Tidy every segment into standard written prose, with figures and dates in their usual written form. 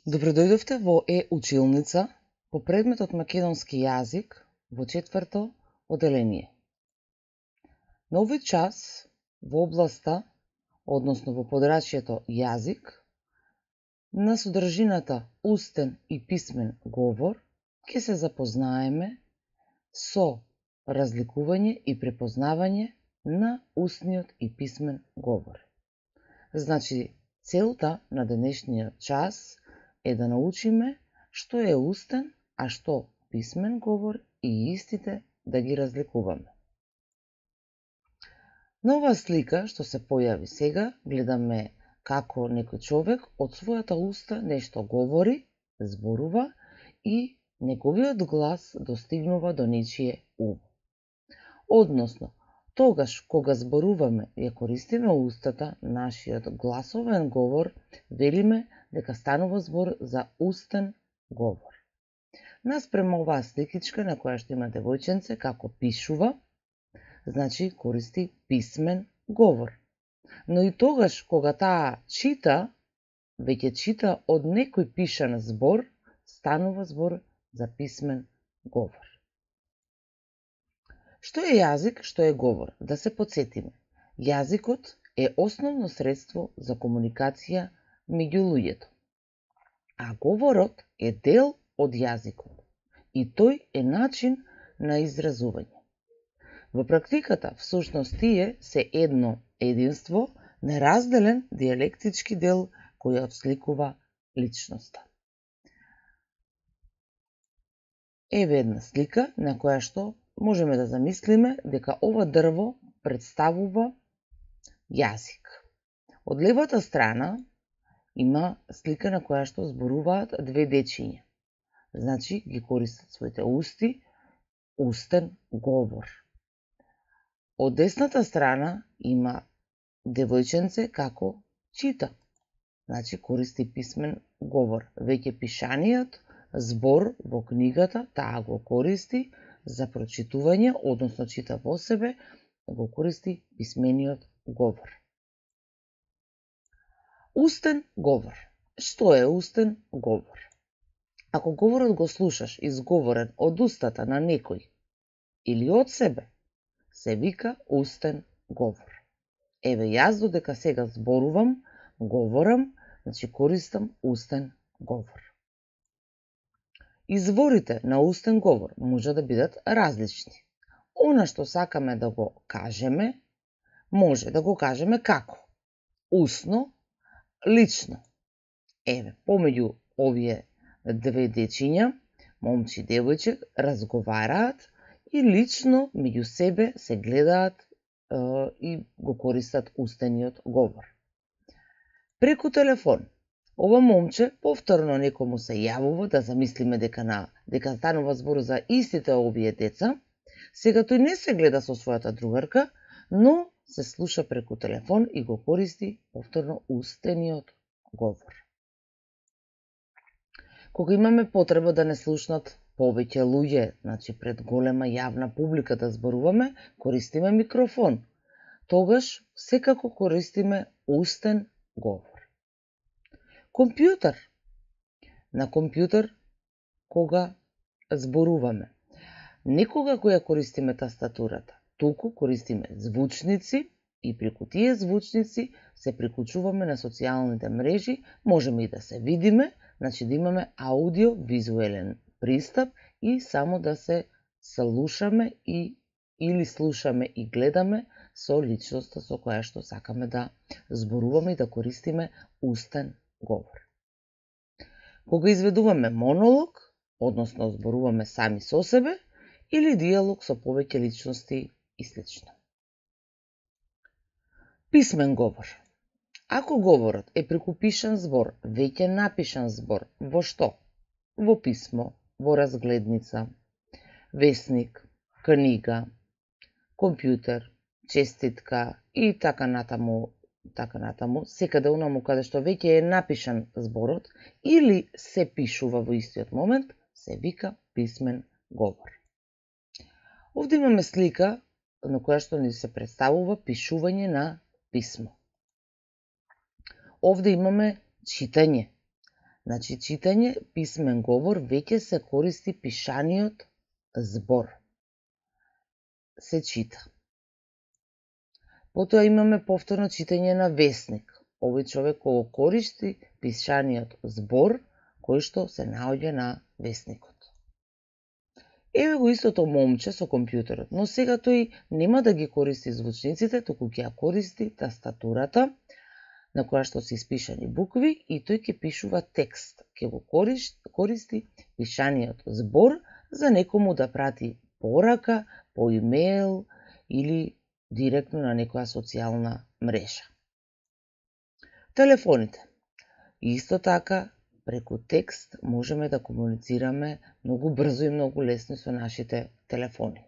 Добродојдовте во училница по предметот македонски јазик во 4-то оделение. На овој час во областа, односно во подрачјето јазик, на содржината устен и писмен говор, ќе се запознаеме со разликување и препознавање на устниот и писмен говор. Значи, целта на денешниот час е да научиме што е устен, а што писмен говор и истите да ги разликуваме. На оваа слика што се појави сега, гледаме како некој човек од својата уста нешто говори, зборува и неговиот глас достигнува до нечие ум. Односно, тогаш кога зборуваме и ја користиме устата, нашиот гласовен говор, велиме дека станува збор за устен говор. Наспрема оваа сликичка на која што има девојченце како пишува, значи користи писмен говор. Но и тогаш кога таа чита, веќе чита од некој пишан збор, станува збор за писмен говор. Што е јазик, што е говор? Да се потсетиме. Јазикот е основно средство за комуникација меѓу луѓето, а говорот е дел од јазикот и тој е начин на изразување. Во практиката, всушност тие се едно единство, неразделен дијалектички дел кој ја отсликува личноста. Еве една слика на која што можеме да замислиме дека ова дрво представува јазик. Од левата страна има слика на која што зборуваат две дечиња. Значи, ги користат своите усти, устен говор. Од десната страна има девојченце како чита. Значи, користи писмен говор. Веќе пишаниот збор во книгата, таа го користи за прочитување, односно чита во себе, го користи писмениот говор. Устен говор. Што е устен говор? Ако говорот го слушаш изговорен од устата на некој или од себе, се вика устен говор. Еве јас додека сега зборувам, говорам, значи користам устен говор. Изворите на устен говор може да бидат различни. Она што сакаме да го кажеме, може да го кажеме како? Усно, лично. Еве, помеѓу овие две дечиња, момче и девојче, разговараат и лично меѓу себе се гледаат и го користат устениот говор. Преку телефон, ова момче повторно некому се јавува, да замислиме дека станува збор за истите овие деца. Сега тој не се гледа со својата другарка, но се слуша преку телефон и го користи повторно устениот говор. Кога имаме потреба да не слушнат повеќе луѓе, значи пред голема јавна публика да зборуваме, користиме микрофон. Тогаш секако користиме устен говор. Компјутер. На компјутер кога зборуваме, некога која користиме тастатурата, туку користиме звучници и преку тие звучници се приклучуваме на социјалните мрежи, можеме и да се видиме, значи да имаме аудио-визуелен пристап и само да се слушаме или слушаме и гледаме со личноста со која што сакаме да зборуваме и да користиме устен говор. Кога изведуваме монолог, односно зборуваме сами со себе, или диалог со повеќе личности и слично. Писмен говор. Ако говорот е преку пишан збор, веќе напишан збор, во што? Во писмо, во разгледница, весник, книга, компјутер, честитка и така натаму, секаде онаму каде што веќе е напишан зборот или се пишува во истиот момент, се вика писмен говор. Овде имаме слика на која што ни се представува пишување на писмо. Овде имаме читање. Значи, читање, писмен говор, веќе се користи пишаниот збор. Се чита. Потоа имаме повторно читање на весник. Овој човек го користи пишаниот збор, кој што се наоѓа на весникот. Еве го истото момче со компјутерот, но сега тој нема да ги користи звучниците, туку ќе ја користи тастатурата, на која што се испишани букви, и тој ќе пишува текст. Ќе го користи пишаниот збор за некому да прати порака, по имейл или директно на некоја социјална мрежа. Телефоните. Исто така, преку текст можеме да комуницираме многу брзо и многу лесно со нашите телефони.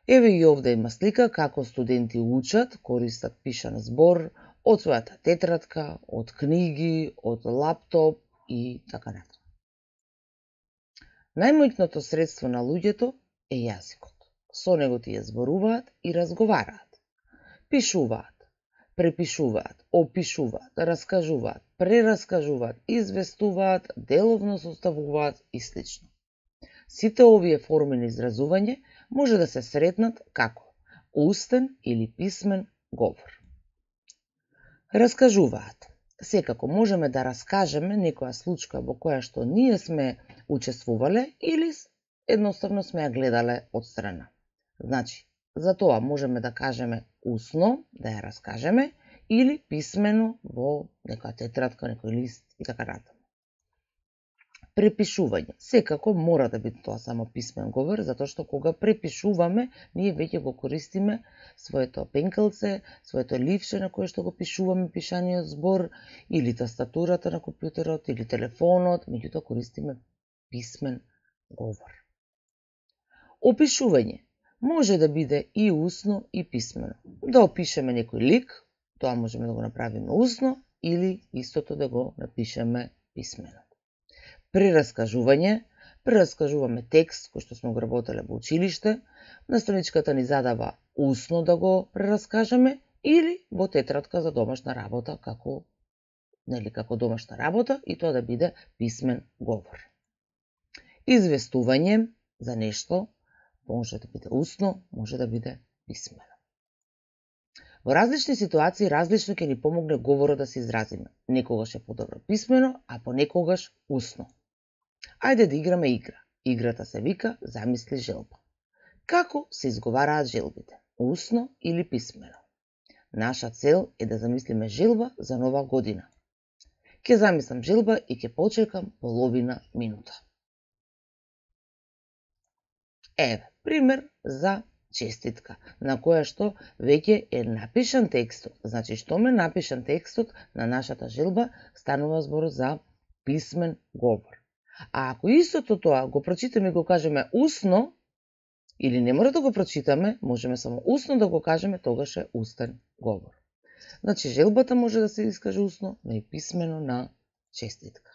Еве и овде има слика како студенти учат, користат пишан збор од својата тетрадка, од книги, од лаптоп и така натаму. Најмоćното средство на луѓето е јазикот. Со него тие зборуваат и разговараат. Пишуваат, препишуваат, опишуваат, раскажуваат, прераскажуваат, известуваат, деловно составуваат и слично. Сите овие форми на изразување може да се сретнат како устен или писмен говор. Раскажуваат. Секако можеме да раскажеме некоја случка во која што ние сме учествувале или едноставно сме ја гледале од страна. Значи, за тоа можеме да кажеме усно, да ја раскажеме, или писмено во некоја тетрадка, некој лист и така натаму. Препишување. Секако мора да биде тоа само писмен говор, затоа што кога препишуваме, ние веќе го користиме своето пенкелце, своето ливче на кое што го пишуваме пишаниот збор, или тастатурата на компјутерот, или телефонот, меѓутоа користиме писмен говор. Опишување може да биде и усно и писмено. Да опишеме некој лик, тоа можеме да го направиме усно, или истото да го напишеме писмено. Прераскажуваме текст кој што сме го работеле во училиште, наставничката ни задава усно да го прераскажеме, или во тетрадка за домашна работа, како домашна работа, и тоа да биде писмен говор. Известување за нешто може да биде усно, може да биде писмено. Во различни ситуации различно ќе ни помогне говорот да се изразиме. Некогаш е подобро писмено, а понекогаш усно. Ајде да играме игра. Играта се вика замисли желба. Како се изговараат желбите? Усно или писмено? Наша цел е да замислиме желба за нова година. Ќе замислам желба и ќе почекам половина минута. Еве, пример за честитка, на која што веќе е напишан текстот. Значи, што ме напишан текстот на нашата желба, станува збор за писмен говор. А ако истото тоа го прочитаме и го кажеме усно, или не мора да го прочитаме, можеме само усно да го кажеме, тогаш е устен говор. Значи, желбата може да се искаже усно, но и писмено на честитка.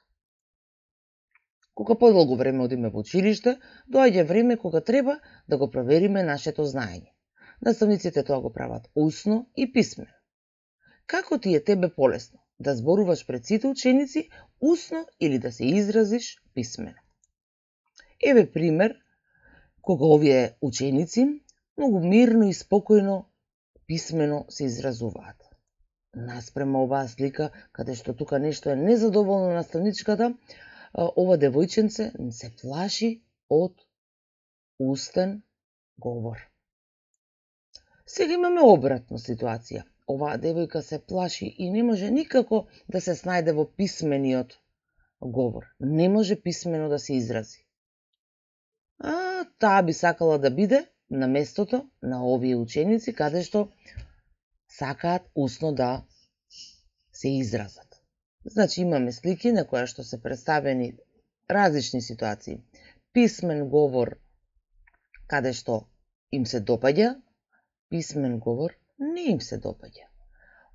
Кога подолго време одиме во училиште, доаѓа време кога треба да го провериме нашето знаење. Наставниците тоа го прават усно и писмено. Како ти е тебе полесно? Да зборуваш пред сите ученици усно или да се изразиш писмено? Еве пример кога овие ученици многу мирно и спокојно писмено се изразуваат. Наспрема оваа слика, каде што тука нешто е незадоволно наставничката, ова девојченце се плаши од устен говор. Сега имаме обратна ситуација. Оваа девојка се плаши и не може никако да се снајде во писмениот говор. Не може писмено да се изрази. Таа би сакала да биде на местото на овие ученици, каде што сакаат усно да се изразат. Значи имаме слики на која што се представени различни ситуации. Писмен говор каде што им се допаѓа, писмен говор не им се допаѓа.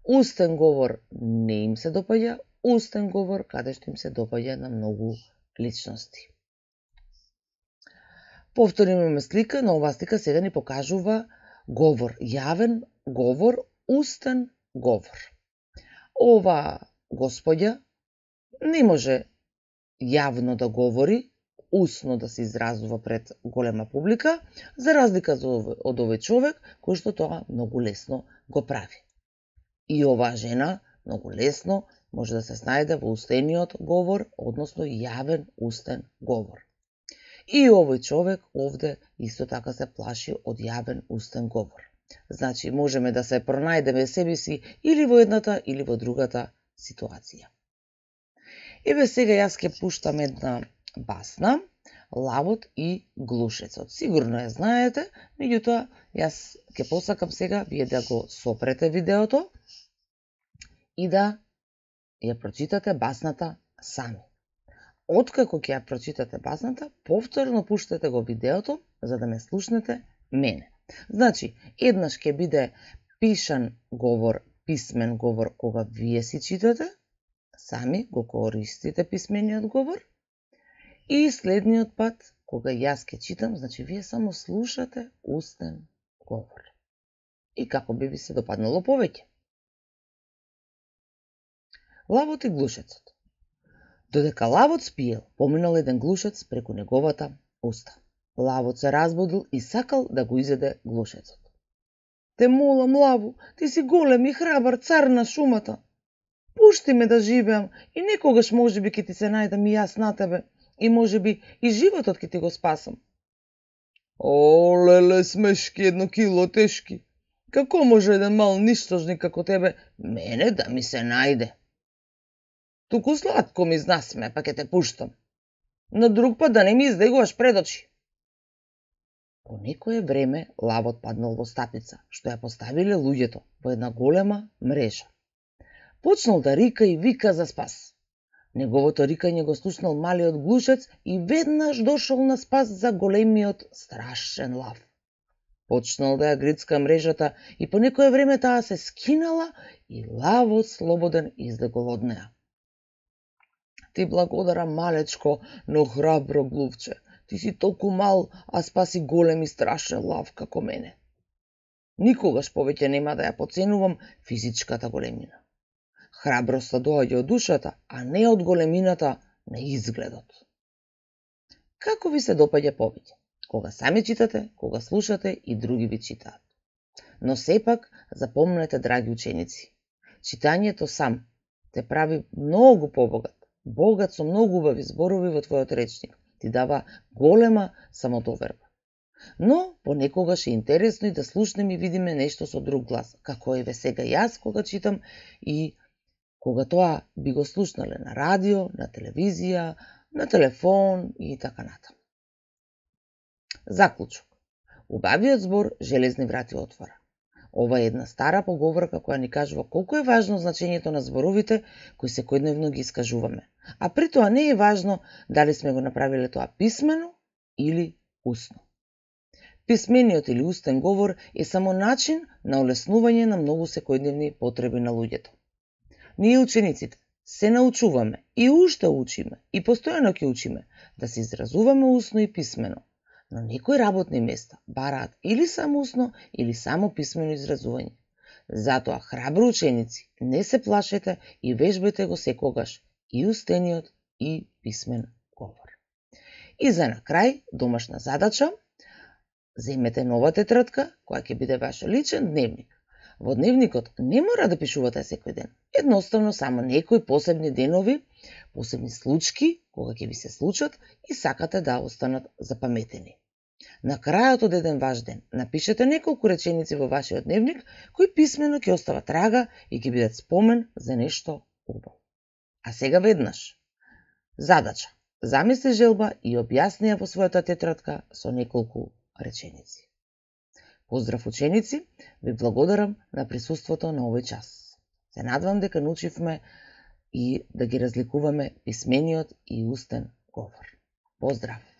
Устен говор не им се допаѓа, устен говор каде што им се допаѓа на многу личности. Повторно имаме слика, но оваа слика сега ни покажува говор, јавен говор, устен говор. Ова господја не може јавно да говори, усно да се изразува пред голема публика, за разлика од овој човек кој што тоа многу лесно го прави. И оваа жена многу лесно може да се снајде во устениот говор, односно јавен устен говор. И овој човек овде исто така се плаши од јавен устен говор. Значи, можеме да се пронајдеме себе си или во едната или во другата ситуација. Еве сега јас ќе пуштам една басна, Лавот и глушецот. Сигурно ја знаете, меѓутоа јас ќе посакам сега вие да го сопрете видеото и да ја прочитате басната сами. Откако ќе ја прочитате басната, повторно пуштете го видеото за да ме слушнете мене. Значи, еднаш ќе биде пишан говор, писмен говор кога вие си читате, сами го користите писмениот говор, и следниот пат, кога јас ќе читам, значи вие само слушате устен говор. И како би ви се допаднало повеќе. Лавот и глушецот. Додека лавот спиел, поминал еден глушец преку неговата уста. Лавот се разбудил и сакал да го изеде глушецот. Те молам, лаву, ти си голем и храбар цар на шумата. Пушти ме да живеам и некогаш можеби ќе ти се најдам и јас на тебе и можеби и животот ќе ти го спасам. О, леле, смешки, 1 кило тешки. Како може еден мал ништожник како тебе мене да ми се најде? Туку сладко ми знасме, па ќе те пуштам. На друг пат да не ми издегуваш пред очи. По некое време лавот паднал во стапица, што ја поставиле луѓето во една голема мрежа. Почнал да рика и вика за спас. Неговото рикање го слушнал малиот глушец и веднаш дошол на спас за големиот страшен лав. Почнал да ја грицка мрежата и по некое време таа се скинала и лавот слободен излегол од неа. Ти благодарам, малечко, но храбро глувче. Ти си толку мал, а спаси голем и страшен лав како мене. Никогаш повеќе нема да ја поценувам физичката големина. Храброста доаѓа од душата, а не од големината на изгледот. Како ви се допаѓа повеќе? Кога сами читате, кога слушате и други ви читаат. Но сепак, запомнете, драги ученици, читањето сам те прави многу побогат, богат со многу убави зборови во твојот речник, ти дава голема самодоверба. Но понекогаш е интересно и да слушнеме и видиме нешто со друг глас, како еве сега јас кога читам и кога тоа би го слушнале на радио, на телевизија, на телефон и така натаму. Заклучок. Убавиот збор железни врати отвора. Ова е една стара поговорка која ни кажува колку е важно значењето на зборовите кои секојдневно ги искажуваме. А при тоа не е важно дали сме го направиле тоа писмено или усно. Писмениот или устен говор е само начин на олеснување на многу секојдневни потреби на луѓето. Ние учениците се научуваме и уште учиме и постојано ќе учиме да се изразуваме усно и писмено, но некои работни места бараат или само усно или само писмено изразување. Затоа, храбро ученици, не се плашете и вежбајте го секогаш и устениот и писмен говор. И за на крај, домашна задача, земете нова тетрадка која ќе биде ваш личен дневник. Во дневникот не мора да пишувате секој ден. Едноставно само некои посебни денови, посебни случаи, кога ќе ви се случат и сакате да останат запаметени. На крајот од еден ваш ден, напишете неколку реченици во вашиот дневник, кои писмено ќе остават трага и ќе бидат спомен за нешто убаво. А сега веднаш. Задача. Замисли желба и објасни ја во својата тетрадка со неколку реченици. Поздрав ученици, ви благодарам на присуството на овој час. Се надвам дека научивме и да ги разликуваме писмениот и устен говор. Поздрав!